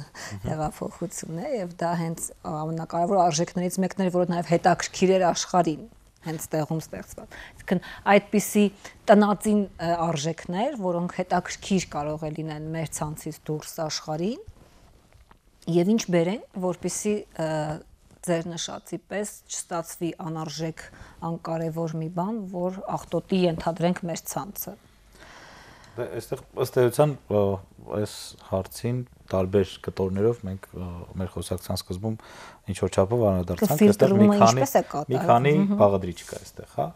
հեղափոխություն է եւ դա հենց ամենակարևոր արժեքներից մեկն էր, որը նաեւ հետաքրքիր էր աշխարհին, հենց տեղում ստեղծված։ Այսինքն այդպիսի տնածին արժեքներ, որոնք հետաքրքիր կարող է լինեն մեր ցանցից դուրս աշխարհին եւ ինչ բերեն, որպիսի ձեր նշածի պես չստացվի անարժեք, անկարևոր մի բան, որ աղտոտի ենթադրենք մեր ցանցը։ Այստեղ ըստ էության այս հարցին տարբեր կտորներով մենք մեր խոսակցության սկզբում ինչ որ չափով անդրադարձանք, այստեղ մի քանի բաղադրիչ կա այստեղ, հա,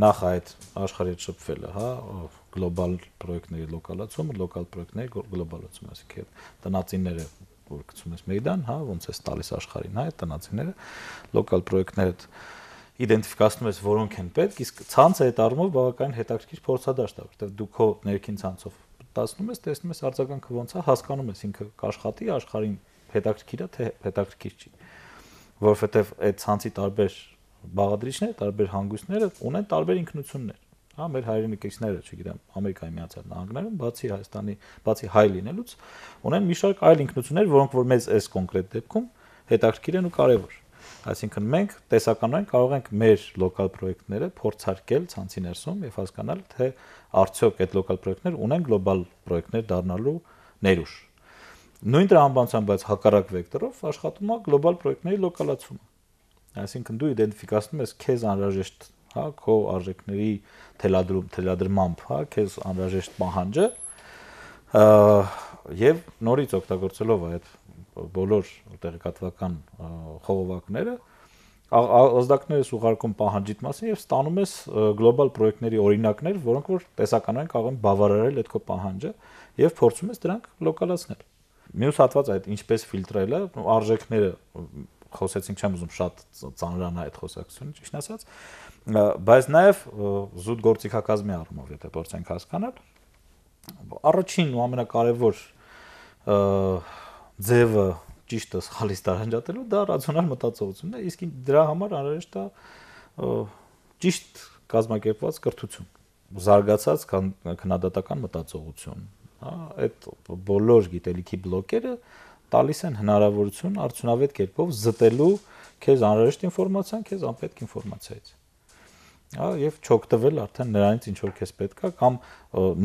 նախ այդ աշխարհի հետ շփվելը, հա, գլոբալ պրոյեկտների լոկալացումը, լոկալ պրոյեկտների գլոբալացումը, այսինքն տնածինները, որ գցում ես մեյդան, հա, ոնց է տալիս աշխարհին, հա, այդ տնածինները, լոկալ պրոյեկտները իդենտիֆիկացնում ես որոնք են պետք, իսկ ցանցը այդ առումով բավականին հետաքրքիր փորձադաշտ է, որտեղ դու քո ներքին ցանցով տասնում ես, տեսնում ես արձագանքը ոնց է, հասկանում ես ինքը կաշխատի, աշխարհին հետաքրքիր է, թե հետաքրքիր չի։ Որովհետև այդ ցանցի տարբեր բաղադրիչները, տարբեր հանգույցները ունեն տարբեր ինքնություններ։ Հա, մեր հայրենիքիցները, չգիտեմ, Ամերիկայի Միացյալ Նահանգներում, բացի Հայաստանի, բացի հայ լինելուց, ունեն մի շարք այլ ինքնություններ, որոնք որ մեզ այս կոնկրետ դեպքում հետաքրքիր են ու կարևոր։ Այսինքն մենք տեսականորեն կարող ենք մեր լոկալ պրոյեկտները փորձարկել ցանցի ներսում եւ հասկանալ, թե արդյոք այդ լոկալ պրոյեկտները ունեն գլոբալ պրոյեկտներ դառնալու ներուժ։ Նույն տրամաբանությամբ, բայց հակառակ վեկտորով աշխատում է գլոբալ պրոյեկտների լոկալացումը։ Այսինքն դու իդենտիֆիկացնում ես քեզ անհրաժեշտ, հա, քո արժեքների թելադրմամբ, հա, քեզ անհրաժեշտ պահանջը եւ նորից օգտագործելով այդ բոլոր տեղեկատվական խողովակները ազդակները ուղարկում պահանջիդ մասին եւ ստանում ես գլոբալ պրոյեկտների օրինակներ, որոնք որ տեսականորեն կարող են բավարարել այդ քո պահանջը եւ փորձում ես դրանք լոկալացնել։ Մյուս հատվածը այդ ինչպես ֆիլտրելը, արժեքները խոսեցինք, չեմ ուզում շատ ծանրանա այդ խոսակցությունը, ճիշտ ասած, բայց նաեւ զուտ գործիքակազմի առումով, եթե փորձենք հասկանալ, առաջին ու ամենակարևոր ձևը ճիշտը սխալից տարանջատելու դա ռացիոնալ մտածողությունն է, իսկ դրա համար անհրաժեշտ է ճիշտ կազմակերպված կրթություն, զարգացած քննադատական մտածողություն, հա, այդ բոլոր գիտելիքի բլոկերը տալիս են հնարավորություն արդյունավետ կերպով զտելու քեզ անհրաժեշտ ինֆորմացիան, քեզ անպետք ինֆորմացիայից։ Հա, եւ չօգտվել արդեն նրանից ինչ որ քեզ պետք է կամ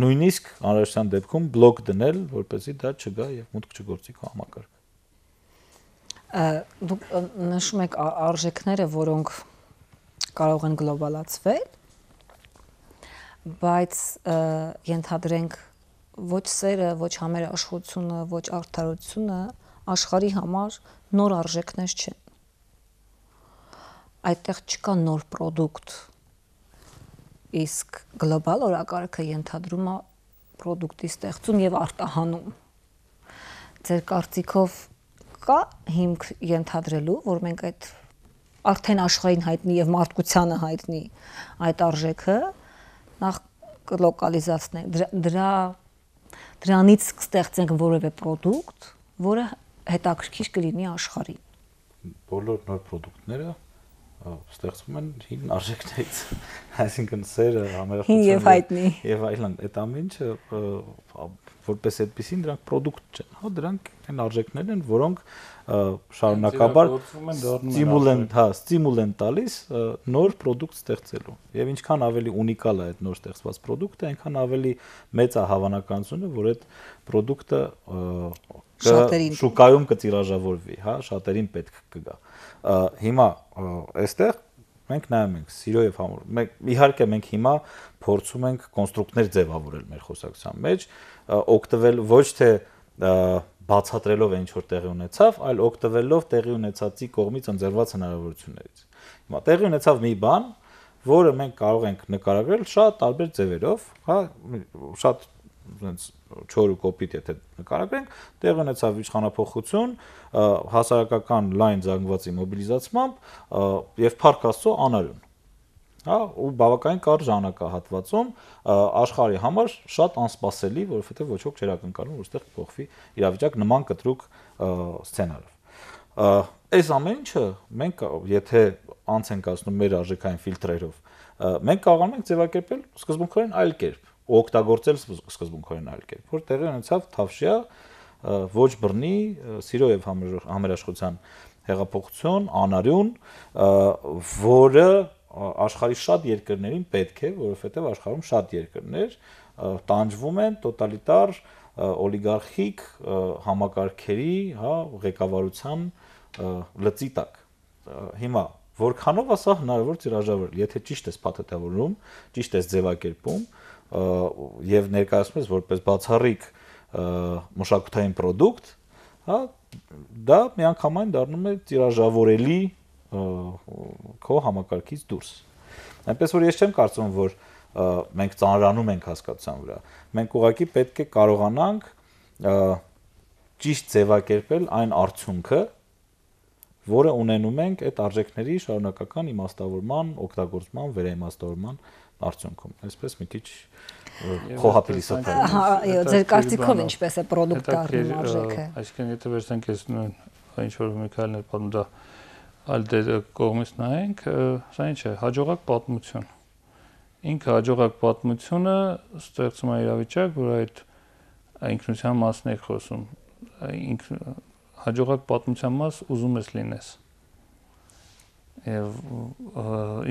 նույնիսկ անհրաժեշտության դեպքում բլոկ դնել, որպեսզի դա չգա եւ մուտք չգործի քո համակարգ։ Դուք նշում եք արժեքները, որոնք կարող են գլոբալացվել, բայց ենթադրենք ոչ սերը, ոչ համերաշխությունը, ոչ արդարությունը աշխարհի համար նոր արժեքներ չեն։ Այդտեղ չկա նոր պրոդուկտ, իսկ գլոբալ օրակարգը ենթադրում է պրոդուկտի ստեղծում եւ արտահանում։ Ձեր կարծիքով կա հիմք ենթադրելու, որ մենք այդ արդեն աշխարհին հայտնի եւ մարդկությանը հայտնի այդ արժեքը նախ լոկալիզացնենք, դրանից կստեղծենք որևէ պրոդուկտ, որը հետաքրքիր կլինի աշխարհին։ Բոլոր նոր պրոդուկտները ստեղծվում են հին արժեքներից, այսինքն սերը, համերաշխությունը եւ այլն, այդ ամեն ինչը որպես այդպեսին դրանք պրոդուկտ չեն, հա, դրանք այն արժեքներ են, որոնք շարունակաբար ստիմուլ են տալիս նոր պրոդուկտ ստեղծելու։ Եվ ինչքան ավելի ունիկալ է այդ նոր ստեղծված պրոդուկտը, այնքան ավելի մեծ է հավանականությունը, որ այդ պրոդուկտը շուկայում կտիրաժավորվի, հա, շատերին պետք կգա։ Հիմա այստեղ մենք նայում ենք սիրո եւ համոր։ Իհարկե մենք հիմա փորձում ենք կոնստրուկտներ ձևավորել մեր խոսակցության մեջ, օգտվել ոչ թե բացատրելով ինչ որ տեղի ունեցավ, այլ օգտվելով տեղի ունեցածի կողմից ընձեռված հնարավորություններից։ Հիմա տեղի ունեցավ մի բան, որը մենք կարող ենք նկարագրել շատ տարբեր ձևերով, հա, շատ այնց չոր ու կոպիտ եթե նկարագրենք, տեղի ունեցավ իշխանափոխություն, հասարակական լայն զանգվածի մոբիլիզացմամբ եւ փառք Աստծո անարյուն։ Հա, ու բավականին կարճ ժամանակահատվածում աշխարհի համար շատ անսպասելի, որովհետեւ ոչ ոք չէր ակնկալում, որ այստեղ փոխվի իրավիճակ նման կտրուկ սցենարով։ Այս ամեն ինչը մենք եթե անց ենք ասնում մեր արժեքային ֆիլտրերով, մենք կարողանում ենք ձևակերպել սկզբունքորեն այլ կերպ, օգտագործել սկզբունքորեն այլ կերպ, որ տեղի ունեցավ Թավշյա ոչ բռնի սիրո եւ համերաշխության հեղափոխություն, անարյուն, որը աշխարհի շատ երկրներին պետք է, որովհետեւ աշխարհում շատ երկրներ տանջվում են տոտալիտար օլիգարխիկ համակարգերի, հա, ղեկավարության լծի տակ։ Հիմա որքանով է սա հնարավոր տիրաժավորել, եթե ճիշտ ես փաթեթավորում, ճիշտ ես ձևակերպում եւ ներկայացնում ես որպես բացառիկ մշակութային պրոդուկտ, հա, դա միանգամայն դառնում է տիրաժավորելի քո համակարգից դուրս։ Այնպես որ ես չեմ կարծում, որ մենք ծանրանում ենք հասկացության վրա։ Մենք ուղղակի պետք է կարողանանք ճիշտ ձևակերպել այն արդյունքը, որը ունենում ենք այդ արժեքների շարունակական իմաստավորման, օգտագործման, վերաիմաստավորման արդյունքում։ Այսպես մի քիչ խոհապելի սփռ։ Այո, ձեր կարծիքով ինչպես է պրոդուկտ դառնում արժեքը։ Այսինքն եթե վերցնենք այս ինչ որ Միքայելն է պատմում, դա այլ կողմից նայենք, սա ինչ է, հաջողակ պատմություն։ Ինքը հաջողակ պատմությունը ստեղծում է իրավիճակ, որ այդ ինքնության մասն է խոսում։ Հաջողակ պատմության մաս ուզում ես լինես։ Եվ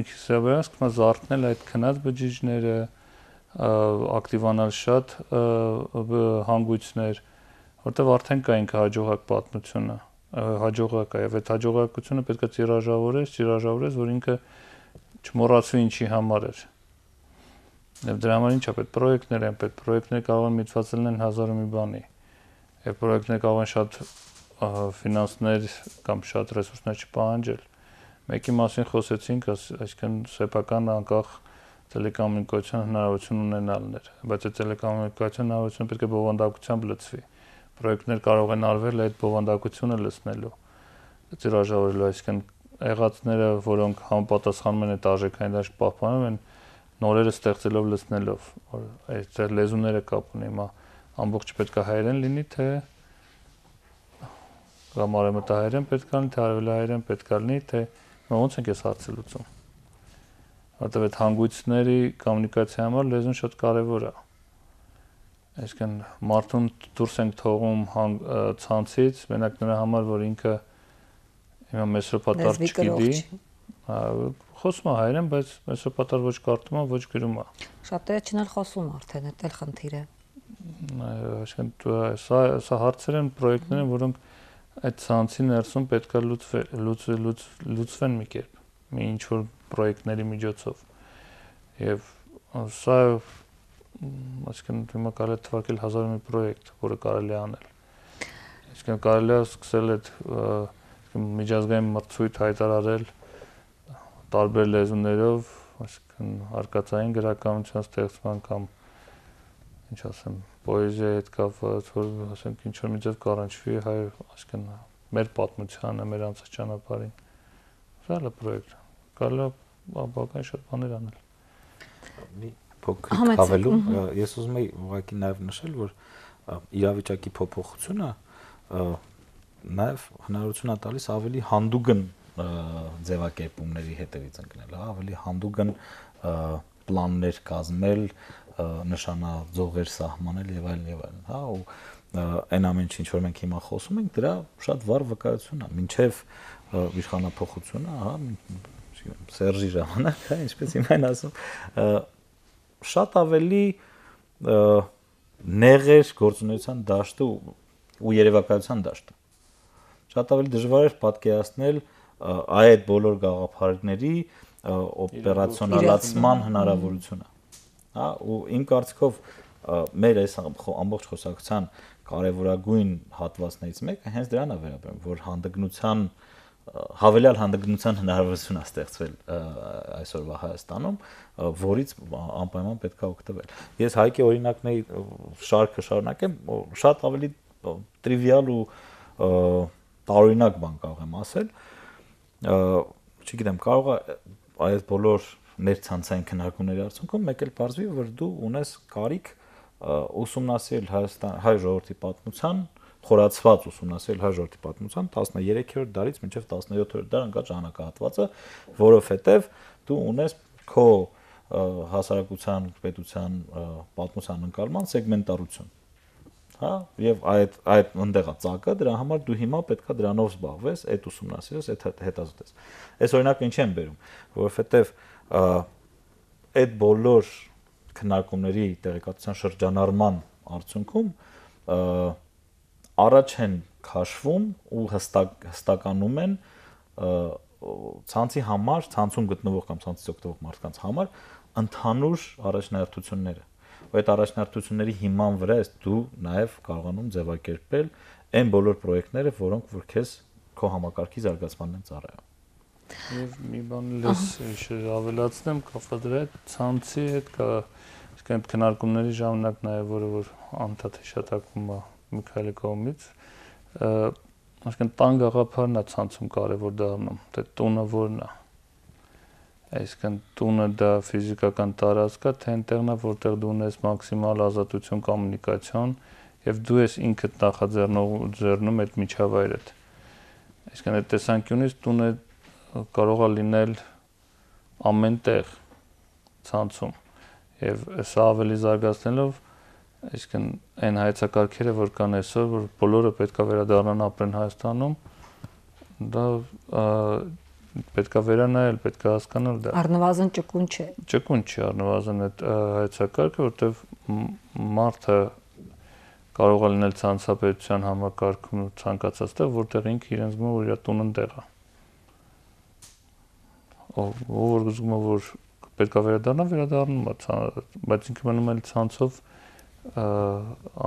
ինքս վերահսկում զարթնել այդ քնած բջիջները, ակտիվանալ շատ հանգույցներ, որտեղ արդեն կա ինքը հաջողակ պատմությունը, հաջողակ է, եւ այդ հաջողակությունը պետք է ծիրաժավորես, որ ինքը չմոռացվի ինչի համար էր։ Եվ դրա համար ինչա պետք պրոյեկտներ են, պետք պրոյեկտները կարող են միտված լինեն 1000 ու մի բանի։ Եվ պրոյեկտները կարող են շատ ֆինանսներ կամ շատ ռեսուրսներ չպահանջել։ Մեկի մասին խոսեցինք, այսինքն սեփական անկախ տելեկոմունիկացիոն հնարավորություն ունենալն էր, բայց այդ տելեկոմունիկացիոն հնարավորությունը պետք է բովանդակությամբ լցվի։ Պրոյեկտներ կարող են արվել այդ բովանդակությունը լցնելու, ծիրաժավորելու, այսինքն եղածները, որոնք համապատասխանում են այդ արժեքային դաշտ պահպանում են, նորերը ստեղծելով լցնելով, որ այդ լեզուները կապ ունի, հիմա ամբողջը պետք է հայերեն լինի, թե կամ արևմտահայերեն պետք է լինի, թե արևելահայերեն պետք է լինի, թե ոնց ենք այս հարցը լուծում։ Որտեղ այդ հանգույցների կոմունիկացիայի համար լեզուն շատ կարևոր է։ Այսինքն մարդուն դուրս ենք թողում ցանցից, մենակ նրա համար, որ ինքը հիմա մեսրոպատար չգիտի, խոսում է հայերեն, բայց մեսրոպատար ոչ կարդում է, ոչ գրում է։ Շատերը չնալ խոսում արդեն, դա էլ խնդիր է։ Այսինքն սա հարցեր են, պրոյեկտներ են, որոնք այդ ցանցի ներսում պետք է լուծվեն մի կերպ, մի ինչ-որ պրոյեկտների միջոցով։ Եվ սա այսինքն հիմա կարելի է թվարկել 1000 մի պրոյեկտ, որը կարելի է անել։ Այսինքն կարելի է սկսել այդ միջազգային մրցույթ հայտարարել տարբեր լեզուներով, այսինքն արկածային գրականության ստեղծման կամ ինչ ասեմ, պոեզիայի հետ կապված, որ ասենք ինչ որ մի ձև կառանչվի հայ, այսինքն մեր պատմությանը, մեր անցած ճանապարհին։ Սա էլ է պրոյեկտ։ Կարելի է բավական շատ բաներ անել։ Մի փոքր հավելու, ես ուզում եի ուղղակի նաև նշել, որ իրավիճակի փոփոխությունը նաև հնարավորություն է տալիս ավելի հանդուգն ձևակերպումների հետևից ընկնել, ավելի հանդուգն պլաններ կազմել, նշանաձողեր սահմանել եւ այլն, հա, ու այն ամեն ինչ որ մենք հիմա խոսում ենք, դրա շատ վառ վկայություն է, մինչեւ իշխանապողությունը, հա, Սերժի ժամանակ, հա, ինչպես հիմա են ասում, շատ ավելի նեղեր գործունեության դաշտը ու երևակայության դաշտը։ Շատ ավելի դժվար էր պատկերացնել այդ բոլոր գաղափարների օպերացիոնալացման հնարավորությունը։ Հա, ու իմ կարծիքով մեր այս ամբողջ խոսակցության կարևորագույն հատվածներից մեկը հենց դրան է վերաբերում, որ հանդգնության հավելյալ հանդգնության հնարավորություն է ստեղծվել այսօրվա Հայաստանում, որից անպայման պետք է օգտվել։ Ես Հայկի օրինակների շարքը շարունակեմ, շատ ավելի տրիվիալ ու տարօրինակ բան կարող եմ ասել, չգիտեմ, կարող է այս բոլոր ներցանցային քննարկումների արդյունքում մեկ էլ բարձվի, որ դու ունես կարիք ուսումնասիրել հայ ժողովրդի պատմության, խորացված ուսումնասիրել հայ ժողովրդի պատմության 13-րդ դարից մինչև 17-րդ դար ընկած ժամանակահատվածը, որովհետև դու ունես քո հասարակության, պետության պատմության ընկալման սեգմենտարություն, հա, եւ այդ ընդեղա ծակը, դրա համար դու հիմա պետքա դրանով զբաղվես, այդ ուսումնասիրես, այդ հետազոտես։ Այս օրինակը ինչ եմ բերում, որովհետև այդ բոլոր քննարկումների տեղեկատվության շրջանառման արդյունքում առաջ են քաշվում ու հստականում են ցանցի համար, ցանցում գտնվող կամ ցանցից օգտվող մարդկանց համար ընդհանուր առաջնահերթությունները։ Այդ առաջնահերթությունների հիման վրա ես դու նաև կարողանում ձևակերպել այն բոլոր պրոյեկտները, որոնք որ քեզ քո համակարգի զարգացմանն են ծառայում։ Եվ մի բան լես ավելացնեմ կապված դրա հետ ցանցի հետ կա, իսկ այդ քննարկումների ժամանակ նաև որ անդադ հիշատակվում է Միքայելի կողմից, այսինքն տան գաղափարն է ցանցում կարևոր դառնում, թե տունը որն է։ Այսինքն տունը դա ֆիզիկական տարածք է, թե այնտեղն է, որտեղ դու ունես մաքսիմալ ազատություն կոմունիկացիոն եւ դու ես ինքդ նախաձեռնում այդ միջավայրդ։ Այսինքն այդ տեսանկյունից տունը կարող է լինել ամեն տեղ ցանցում եւ սա ավելի զարգացնելով այսինքն այն հայեցակարգերը որ կան այսօր որ բոլորը պետք է վերադառնան ապրեն Հայաստանում դա պետքա վերանայել, պետքա հասկանալ դա։ Առնվազն ճկուն չէ։ Ճկուն չի, առնվազն այդ հայեցակարգը, որտեվ մարդը կարող է լինել ցանցապետության համակարգում ու ցանկացած տեղ, որտեղ ինքը իրեն զգում է, որ իր տունն տեղ է։ Ով զգում է, որ պետքա վերադառնում է, բայց ինքը մնում է ցանցով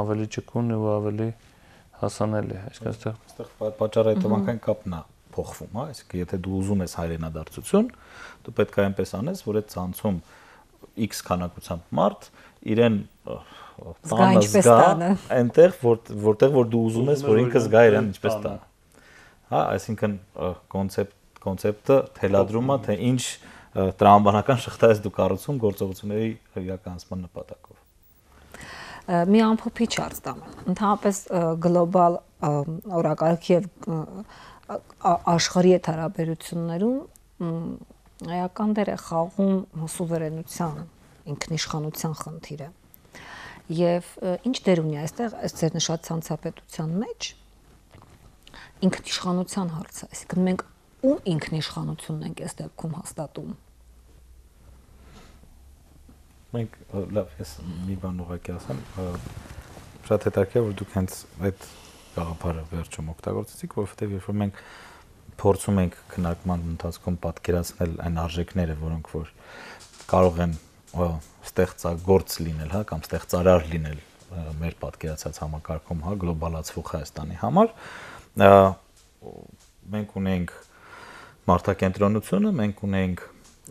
ավելի ճկուն ու ավելի հասանելի է, այսինքն այստեղ պատճառը հետևանքային կապն է փոխվում, հա, այսինքն եթե դու ուզում ես հայրենադարձություն, դու պետք է այնպես անես, որ այդ ցանցում X քանակությամբ մարդ իրեն տանը զգա այնտեղ, որտեղ որ դու ուզում ես, որ ինքը զգա իրեն ինչպես տա։ Հա, այսինքն կոնցեպտը թելադրում է, թե ինչ տրամաբանական շղթա ես դու կառուցում գործողությունների իրականացման նպատակով։ Մի ամփոփիչ հարց տամ։ Ընդհանրապես գլոբալ օրակարգի եւ աշխարհի հետ հարաբերություններում էական դեր է խաղում սուվերենության, ինքնիշխանության խնդիրը։ Եվ ինչ դեր ունի այստեղ այս ձեր նշած ցանցապետության մեջ ինքնիշխանության հարցը, այսինքն մենք ում ինքնիշխանությունն ենք այս դեպքում հաստատում։ Մենք լավ, ես մի բան ուղղակի ասեմ, շատ հետաքրքիր որ դուք հենց այդ գաղափարը վերջում օգտագործեցիք, որովհետև երբ որ մենք փորձում ենք քննարկման ընթացքում պատկերացնել այն արժեքները, որոնք որ կարող են ստեղծագործ լինել, հա, կամ ստեղծարար լինել մեր պատկերացած համակարգում, հա, գլոբալացվող Հայաստանի համար, մենք ունենք մարդակենտրոնությունը, մենք ունենք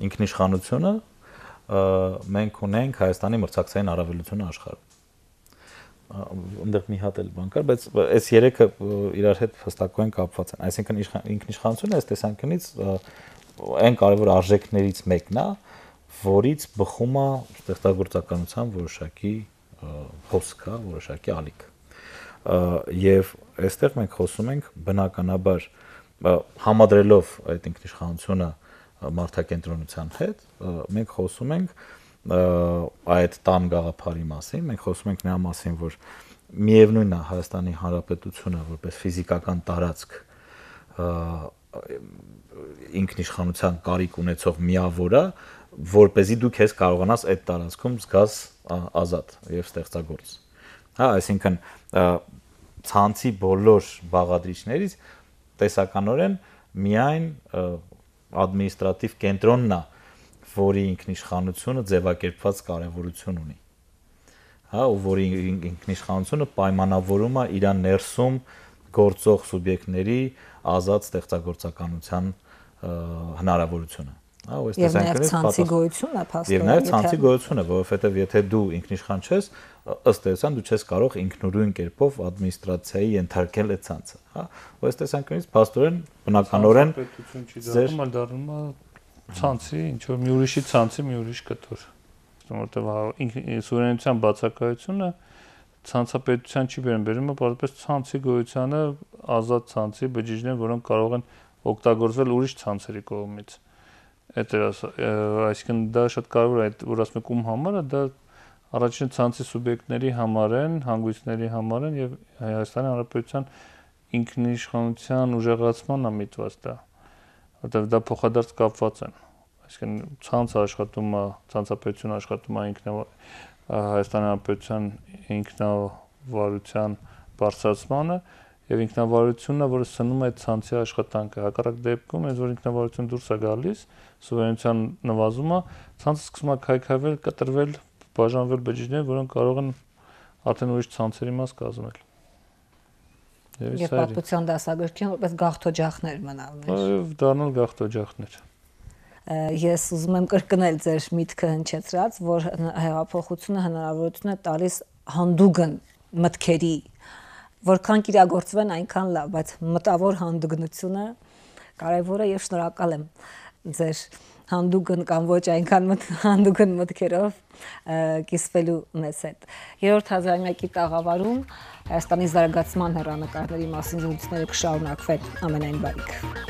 ինքնիշխանությունը, մենք ունենք Հայաստանի մրցակցային առավելությունը աշխարհում։ Այնտեղ մի հատ էլ բան կար, բայց այս երեքը իրար հետ հստակորեն կապված են։ Այսինքն ինքնիշխանությունը այս տեսանկյունից այն կարևոր արժեքներից մեկն է, որից բխում է ստեղծագործականության որոշակի հոսք, որոշակի ալիք։ Եվ այստեղ մենք խոսում ենք բնականաբար համադրելով այդ ինքնիշխանությունը մարդակենտրոնության հետ, մենք խոսում ենք այդ տան գաղափարի մասին, մենք խոսում ենք նրա մասին, որ միևնույնն է Հայաստանի Հանրապետությունը որպես ֆիզիկական տարածք ինքնիշխանության կարիք ունեցող միավոր է, որպեսզի դու քեզ կարողանաս այդ տարածքում զգաս ազատ եւ ստեղծագործ։ Հա, այսինքն ցանցի բոլոր բաղադրիչներից տեսականորեն միայն ադմինիստրատիվ կենտրոնն է, որի ինքնիշխանությունը ձևակերպված կարևորություն ունի։ Հա, ու որի ինքնիշխանությունը պայմանավորում է իր ներսում գործող սուբյեկտների ազատ ստեղծագործականության հնարավորությունը։ Հա, ու այս տեսանկյունից ցանցի գոյությունը փաստորեն։ Եվ նաև ցանցի գոյությունը, որովհետև եթե դու ինքնիշխան չես, ըստ էության դու չես կարող ինքնուրույն կերպով ադմինիստրացիայի ենթարկել այդ ցանցը, հա։ Ու այս տեսանկյունից փաստորեն բնականորեն պետություն չի դառնում, այլ դառնում է ցանցի, ինչ որ մի ուրիշի ցանցի մի ուրիշ կտոր։ Որտեւ սուվերենության բացակայությունը ցանցապետության չի բերում է պարզապես ցանցի գոյությանը, ազատ ցանցի բջիջներ, որոնք կարող են օգտագործվել ուրիշ ցանցերի կողմից։ Այսինքն դա շատ կարևոր է, այդ որ ասում եք ում համար է, դա առաջին ցանցի սուբյեկտների համար են, հանգույցների համար են եւ Հայաստանի Հանրապետության ինքնիշխանության ուժեղացման է միտված դա, որտեղ դա փոխադարձ կապված են։ Այսինքն ցանցը աշխատում է, ցանցապետությունը աշխատում է Հայաստանի Հանրապետության ինքնավարության բարձրացմանը եւ ինքնավարությունը, որը սնում է այդ ցանցի աշխատանքը։ Հակառակ դեպքում, այս որ ինքնավարությունը դուրս է գալիս, սուվերենության նվազումը, ցանցը սկսում է քայքայվել, կտրվել, բաժանվել բջիջներ, որոնք կարող են արդեն ուրիշ ցանցերի մաս կազմել։ Եվ պատմության դասագրքին որպես գաղթօջախներ մնալներ։ Այո, դառնալ գաղթօջախներ։ Ես ուզում եմ կրկնել ձեր միտքը հնչեցրած, որ հեղափոխությունը հնարավորություն է տալիս հանդուգն մտքերի, որքան կիրագործվեն այնքան լավ, բայց մտավոր հանդուգնությունը կարևոր է եւ շնորհակալ եմ ձեր հանդուգն կամ ոչ այնքան հանդուգն մտքերով կիսվելու մեզ հետ։ Երրորդ հազարամյակի տաղավարում Հայաստանի զարգացման հեռանկարների մասին զրույցները կշարունակվեն։ Ամենայն բարիք։